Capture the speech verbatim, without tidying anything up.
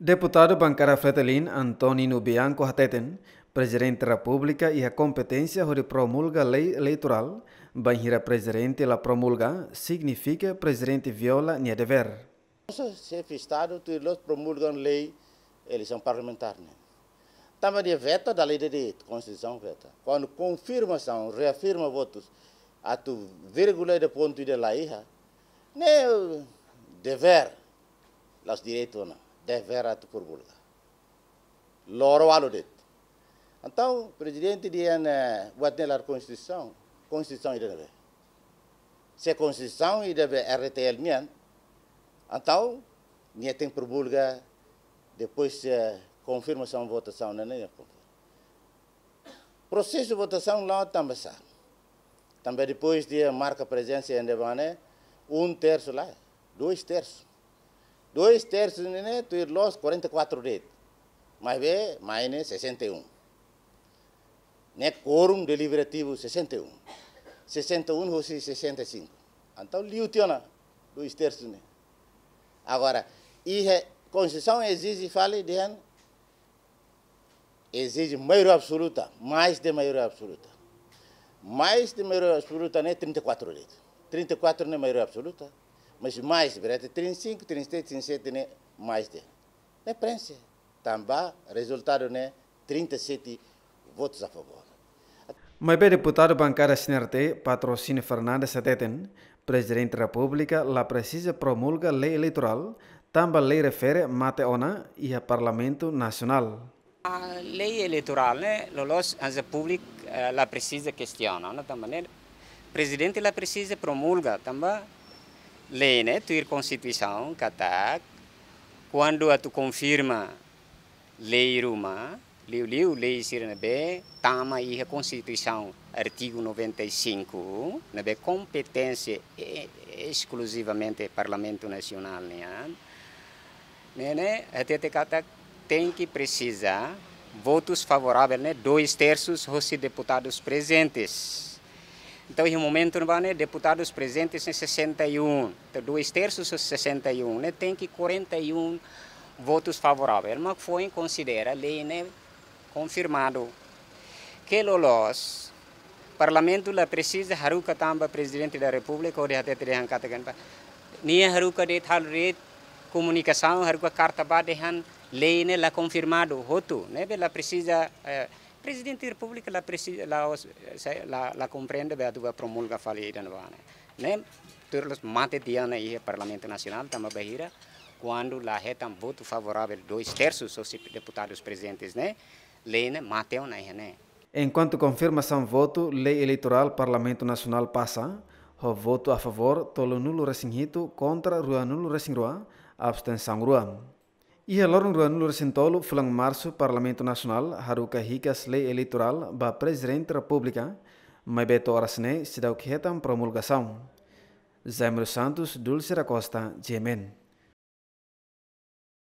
Deputadu bankada Fretilin, Antonino Bianco hateten, Prezidente Repúblika iha kompeténsia hodi promulga lei eleitorál, bainhira Prezidente la promulga, signifika Prezidente viola nia devér. Xefe Estadu tuir loos promulga lei eleisaun parlamentár ne'e. Tanba nia veta dala ida de'it, Konstituisaun veta. Kuandu konfirmasaun, reafirma votus, atu vírgula ida pontu ida la iha, ne'e devér, la'ós direitu ona, devér atu promulga. Loro ualu de'it. Entaun, Prezidente dehan, eh, buat ne'e la iha Konstituisaun, Konstituisaun ida-ne'ebé? Se Konstituisaun ida-ne'ebé R T L nian, entaun, nia tenke promulga depois, eh, konfirmasaun votasaun ne'e, ne'e. Prosesu votasaun la'o tanba sá? Tanba depois de marka prezensa ende bane, um terço la, dois terços. Dois terços ne'e, ne'e tuir loos quarenta e quatro de'it. Maibé, mai ne'e sessenta e um. Ne'e quórum deliberativu sessenta e um. Sessenta e um hosi sessenta e cinco. Entaun, liu tiha ona dois terços ne'e. Agora, iha Konstituisaun ezije fali dehan, ezije maioria absoluta, mais de maioria absoluta. Mais de maioria absoluta ne'e trinta e quatro de'it. Trinta e quatro ne'e maioria absoluta, mas mais, berarti trinta e cinco, trinta e sete, trinta e sete ne'e mais de. Ne'e prenxe. Tanba rezultadu ne'e trinta e sete votos a favor. Maibé deputadu bankada C N R T, Patrocínio Fernandes hateten, Prezidente Repúblika la presiza promulga lei eleitorál, tanba lei refere mate ona iha Parlamentu Nasionál. A lei eleitorál ne'e, loloos hanesan públiku, eh, la presiza kestiona, no tanba ne'e, Prezidente la presiza promulga, tanba lei ne'e tuir Konstituisaun katak, kuandu atu konfirma lei ruma, liuliu lei sira ne'ebé tama iha Konstituisaun artigu noventa e cinco, ne'ebé kompeténsia e-, eskluzivamente Parlamentu Nasionál nian. Ne'e, ne'e, hatete katak tenke presiza votus favorável ne'e dois terços hosi deputadus prezentes. Entaun, iha momentu ne'ebá ne'e, deputadus prezentes ne'e sessenta e um. Entaun, dois terços hosi sessenta e um ne'e, tenke quarenta e um votus favorável. Mak foin konsidera lei ne'e konfirmadu. Ke loloos, Parlamentu la presiza haruka tan ba Prezidente da Repúblika hodi hatete dehan katak, nia haruka de'it, halo de'it komunikasaun, haruka karta ba dehan lei ne'e la konfirmadu hotu, ne'ebé la presiza, eh, Prezidente da Repúblika la presiza, la, la, la komprende be atu ba promulga fali ida-ne'ebá ne'e. Ne'e, tuir loos mate tiha ona iha Parlamentu Nasionál, tanba bainhira, kuandu la hetan votu favorável dois terços hosi deputadus prezentes ne'e, lei ne'e mate ona iha ne'e. Enkuantu konfirmasaun votu lei eleitorál Parlamentu Nasionál pasa, ho votu a favór tolunulu-resin-hitu, kontra ruanulu-resin-rua, abstensaun rua. Iha loron ruanulu-resin-tolu fulan Marsu, Parlamentu Nasionál haruka hikas lei eleitorál ba Prezidente Repúblika, maibé to'o oras ne'e seidauk hetan promulgasaun. Jaime dos Santos, Dulce da Costa, G M N.